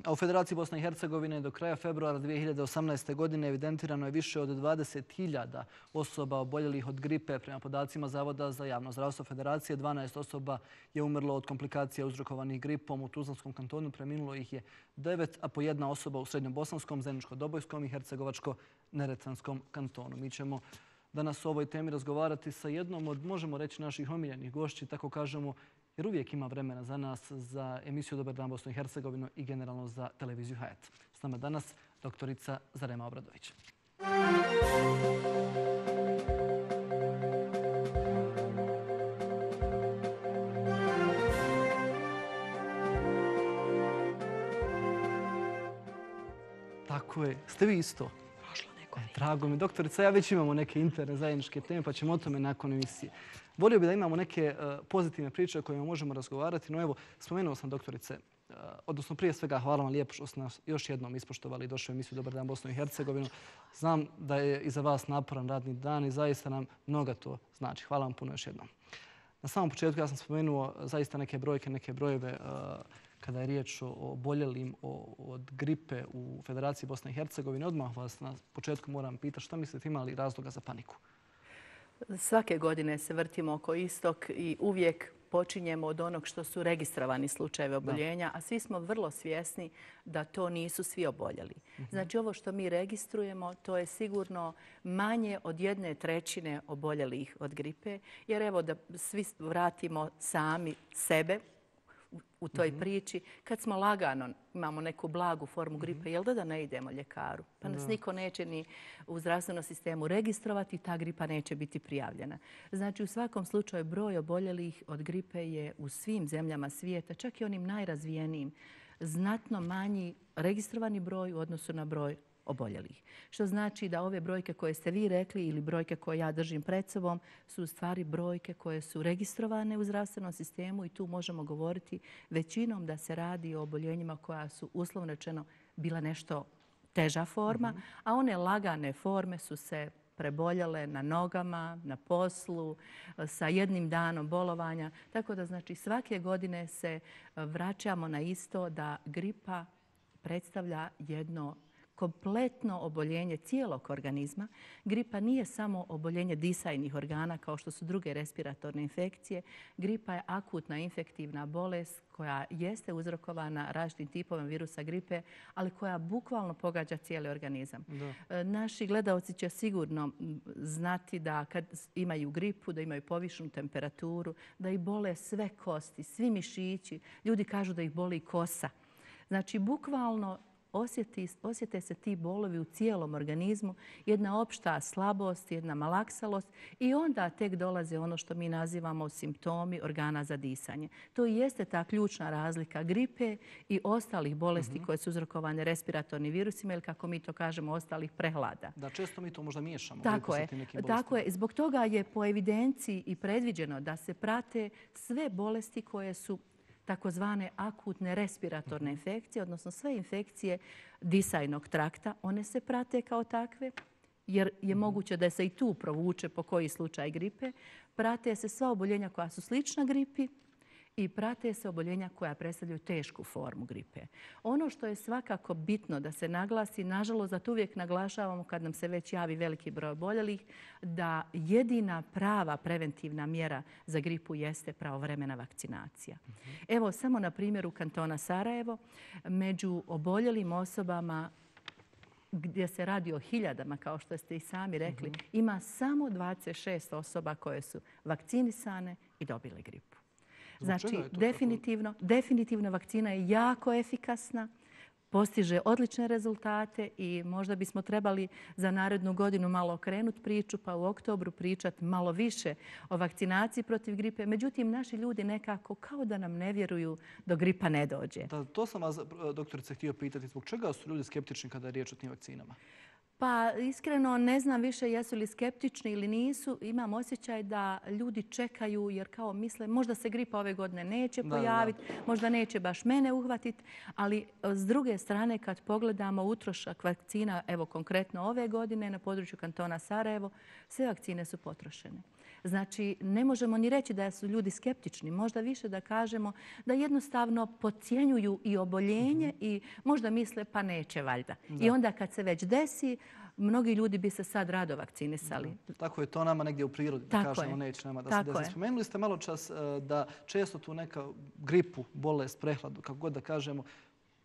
A u Federaciji Bosne i Hercegovine do kraja februara 2018. godine evidentirano je više od 20.000 osoba oboljelih od gripe. Prema podacima Zavoda za javno zdravstvo Federacije, 12 osoba je umrlo od komplikacija uzrokovanih gripom. U Tuzlanskom kantonu preminulo ih je 9, a po jedna osoba u Srednjobosanskom, Zeničko-Dobojskom i Hercegovačko-Neretvanskom kantonu. Mi ćemo danas o ovoj temi razgovarati sa jednom od, možemo reći, naših omiljenih gošći, tako kažemo, jer uvijek ima vremena za nas, za emisiju Dobar dan Bosnu i Hercegovinu i generalno za televiziju Hayat. S nama danas doktorica Zarema Obradović. Tako je. Ste vi isto? Drago mi. Doktorica, ja već imamo neke interne zajedničke teme, pa ćemo o tome nakon emisije. Volio bih da imamo neke pozitivne priče o kojima možemo razgovarati. No evo, spomenuo sam doktorice, odnosno prije svega hvala vam lijepo što ste nas još jednom ispoštovali i došli u emisiju Dobar dan Bosnu i Hercegovinu. Znam da je iza vas naporan radni dan i zaista nam mnogo to znači. Hvala vam puno još jednom. Na samom početku ja sam spomenuo zaista neke brojke, neke brojeve kada je riječ o oboljelim od gripe u Federaciji Bosne i Hercegovine. Odmah vas na početku moram pitati šta mislite, ima li razloga za paniku? Svake godine se vrtimo oko istog i uvijek počinjemo od onog što su registrovani slučajevi oboljenja, a svi smo vrlo svjesni da to nisu svi oboljeli. Znači ovo što mi registrujemo, to je sigurno manje od 1/3 oboljelih od gripe, jer evo da svi vratimo sami sebe u toj priči. Kad smo lagano, imamo neku blagu formu gripe, jel da ne idemo ljekaru? Pa nas niko neće ni u zdravstvenom sistemu registrovati, ta gripa neće biti prijavljena. Znači u svakom slučaju broj oboljelih od gripe je u svim zemljama svijeta, čak i onim najrazvijenijim, znatno manji registrovani broj u odnosu na broj oboljelih. Što znači da ove brojke koje ste vi rekli ili brojke koje ja držim pred sobom su u stvari brojke koje su registrovane u zdravstvenom sistemu i tu možemo govoriti većinom da se radi o oboljenjima koja su uslovno rečeno bila nešto teža forma, a one lagane forme su se preboljele na nogama, na poslu, sa jednim danom bolovanja. Tako da znači svake godine se vraćamo na isto da gripa predstavlja jedno kompletno oboljenje cijelog organizma. Gripa nije samo oboljenje disajnih organa kao što su druge respiratorne infekcije. Gripa je akutna infektivna bolest koja jeste uzrokovana različitim tipovima virusa gripe, ali koja bukvalno pogađa cijeli organizam. Naši gledalci će sigurno znati da kad imaju gripu, da imaju povišenu temperaturu, da ih bole sve kosti, svi mišići. Ljudi kažu da ih boli kosa. Znači, bukvalno osjete se ti bolovi u cijelom organizmu, jedna opšta slabost, jedna malaksalost i onda tek dolaze ono što mi nazivamo simptomi organa za disanje. To i jeste ta ključna razlika gripe i ostalih bolesti koje su uzrokovane respiratornim virusima ili kako mi to kažemo ostalih prehlada. Da, često mi to možda miješamo. Tako je. Zbog toga je po evidenciji i predviđeno da se prate sve bolesti koje su takozvane akutne respiratorne infekcije, odnosno sve infekcije disajnog trakta, one se prate kao takve, jer je moguće da se i tu provuče po koji slučaj gripe. Prate se sva oboljenja koja su slična gripi i prate se oboljenja koja predstavljaju tešku formu gripe. Ono što je svakako bitno da se naglasi, nažalost, da to uvijek naglašavamo kad nam se već javi veliki broj oboljelih, da jedina prava preventivna mjera za gripu jeste pravovremena vakcinacija. Evo, samo na primjeru kantona Sarajevo, među oboljelim osobama gdje se radi o hiljadama, kao što ste i sami rekli, ima samo 26 osoba koje su vakcinisane i dobile gripu. Znači, definitivno vakcina je jako efikasna, postiže odlične rezultate i možda bismo trebali za narednu godinu malo okrenuti priču pa u oktobru pričati malo više o vakcinaciji protiv gripe. Međutim, naši ljudi nekako kao da nam ne vjeruju dok gripa ne dođe. To sam vas, doktorice, htio pitati. Zbog čega su ljudi skeptični kada je riječ o tim vakcinama? Pa iskreno ne znam više jesu li skeptični ili nisu. Imam osjećaj da ljudi čekaju jer kao misle možda se gripa ove godine neće pojaviti, možda neće baš mene uhvatiti, ali s druge strane kad pogledamo utrošak vakcina, evo konkretno ove godine na području kantona Sarajevo, sve vakcine su potrošene. Znači, ne možemo ni reći da su ljudi skeptični. Možda više da kažemo da jednostavno podcjenjuju i oboljenje i možda misle pa neće valjda. I onda kad se već desi, mnogi ljudi bi se sad rado vakcinisali. Tako je to nama negdje u prirodi, da kažemo neće nama da se desi. Spomenuli ste malo čas da često tu neka gripu, bolest, prehladu, kako god da kažemo,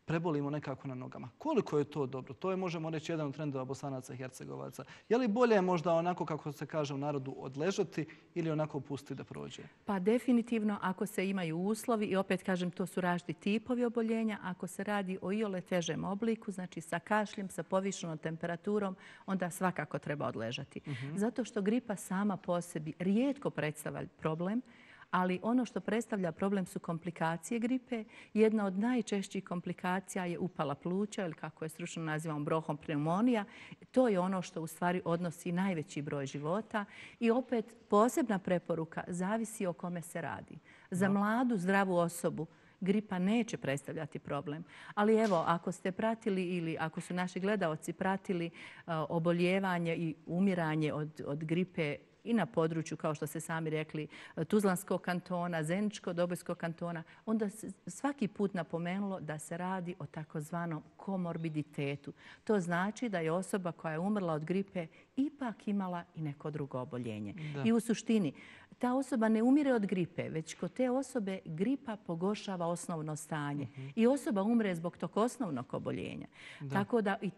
prebolimo nekako na nogama. Koliko je to dobro? To je, možemo reći, jedan od trendova Bosanaca i Hercegovaca. Je li bolje možda onako, kako se kaže u narodu, odležati ili onako pustiti da prođe? Pa definitivno ako se imaju uslovi, i opet kažem, to su različiti tipovi oboljenja, ako se radi o iole težem obliku, znači sa kašljem, sa povišenom temperaturom, onda svakako treba odležati. Zato što gripa sama po sebi rijetko predstavlja problem, ali ono što predstavlja problem su komplikacije gripe. Jedna od najčešćih komplikacija je upala pluća ili kako je stručno nazivamo bronhopneumonija. To je ono što u stvari odnosi najveći broj života. I opet posebna preporuka zavisi o kome se radi. Za mladu, zdravu osobu gripa neće predstavljati problem. Ali evo, ako ste pratili ili ako su naši gledaoci pratili oboljevanje i umiranje od gripe i na području, kao što ste sami rekli, Tuzlanskog kantona, Zeničko-Dobojskog kantona, onda se svaki put napomenulo da se radi o takozvanom komorbiditetu. To znači da je osoba koja je umrla od gripe ipak imala i neko drugo oboljenje. I u suštini, ta osoba ne umire od gripe, već kod te osobe gripa pogoršava osnovno stanje. I osoba umre zbog tog osnovnog oboljenja. Tako da i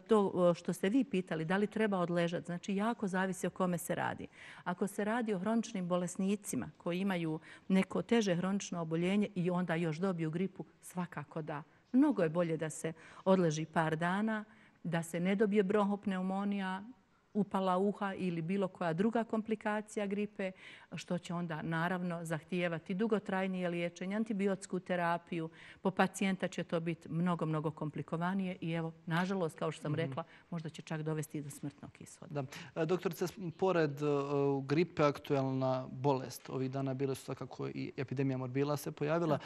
to što ste vi pitali, da li treba odležati, znači jako zavisi o kome se radi. Ako se radi o hroničnim bolesnicima koji imaju neko teže hronično oboljenje i onda još dobiju gripu, svakako da. Mnogo je bolje da se odleži par dana, da se ne dobije bronhopneumonija, upala uha ili bilo koja druga komplikacija gripe, što će onda naravno zahtijevati dugotrajnije liječenje, antibiotsku terapiju. Po pacijenta će to biti mnogo, mnogo komplikovanije i evo, nažalost, kao što sam rekla, možda će čak dovesti do smrtnog ishoda. Doktorice, pored gripe, aktualna bolest ovih dana bile su svakako i epidemija morbila se pojavila.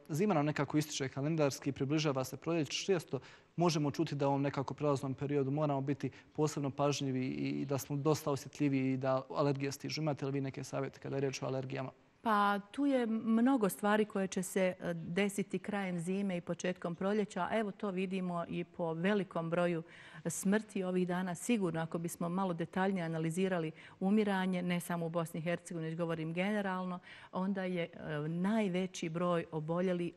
Zima nam nekako ističe kalendarski, približava se proljeće. Često možemo čuti da u ovom nekako prelaznom periodu moramo biti posebno pažljivi i da smo dosta osjetljivi i da alergije stižu. Imate li vi neke savjete kada je riječ o alergijama? Pa tu je mnogo stvari koje će se desiti krajem zime i početkom proljeća. Evo to vidimo i po velikom broju smrti ovih dana. Sigurno ako bismo malo detaljnije analizirali umiranje, ne samo u Bosni i Hercegovini, već govorim generalno, onda je najveći broj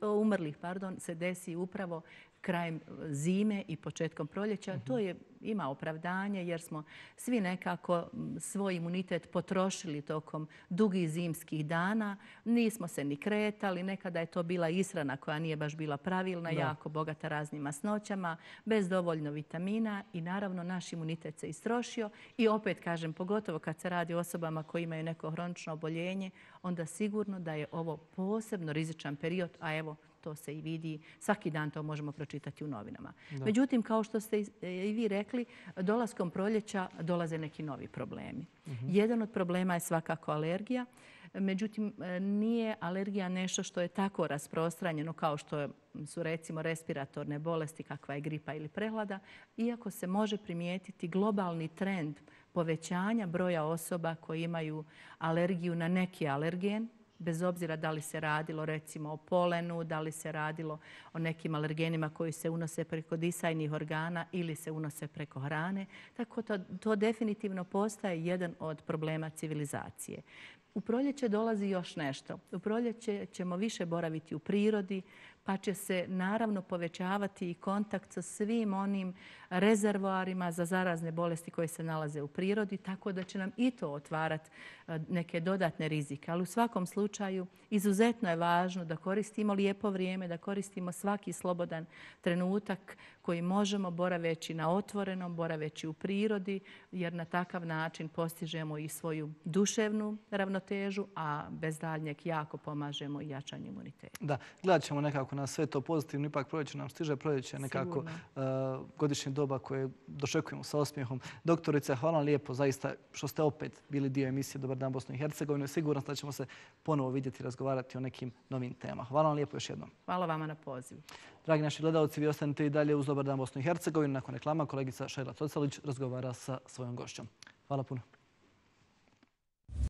umrlih se desi upravo krajem zime i početkom proljeća. To ima opravdanje jer smo svi nekako svoj imunitet potrošili tokom dugih zimskih dana. Nismo se ni kretali. Nekada je to bila ishrana koja nije baš bila pravilna, jako bogata raznim masnoćama, bez dovoljno vitamina i naravno naš imunitet se istrošio. I opet kažem, pogotovo kad se radi o osobama koji imaju neko hronično oboljenje, onda sigurno da je ovo posebno rizičan period, a evo, to se i vidi. Svaki dan to možemo pročitati u novinama. Međutim, kao što ste i vi rekli, dolaskom proljeća dolaze neki novi problemi. Jedan od problema je svakako alergija. Međutim, nije alergija nešto što je tako rasprostranjeno kao što su recimo respiratorne bolesti kakva je gripa ili prehlada, iako se može primijetiti globalni trend povećanja broja osoba koji imaju alergiju na neki alergen, bez obzira da li se radilo recimo o polenu, da li se radilo o nekim alergenima koji se unose preko disajnih organa ili se unose preko hrane. Tako to definitivno postaje jedan od problema civilizacije. U proljeće dolazi još nešto. U proljeće ćemo više boraviti u prirodi, pa će se naravno povećavati i kontakt sa svim onim rezervoarima za zarazne bolesti koje se nalaze u prirodi, tako da će nam i to otvarati neke dodatne rizike. Ali u svakom slučaju izuzetno je važno da koristimo lijepo vrijeme, da koristimo svaki slobodan trenutak koji možemo boraveći na otvorenom, boraveći u prirodi, jer na takav način postižemo i svoju duševnu ravnotežu, a bez daljnjeg jako pomažemo i jačanju imuniteta. Da, gledat ćemo nekako na sve to pozitivno. Ipak proljeće nam stiže, proljeće nekako godišnje doba koje dočekujemo sa osmijehom. Doktorice, hvala vam lijepo zaista što ste opet bili dio emisije Dobar dan Bosno i Hercegovine. Siguran sam da ćemo se ponovo vidjeti i razgovarati o nekim novim temama. Hvala vam lijepo još jednom. Hvala vama na pozivu. Dragi naši gledalci, vi ostanite i dalje uz Dobar dan Bosno i Hercegovine. Nakon reklama kolegica Šajla Tocalić razgovara sa svojom gošćom. Hvala puno.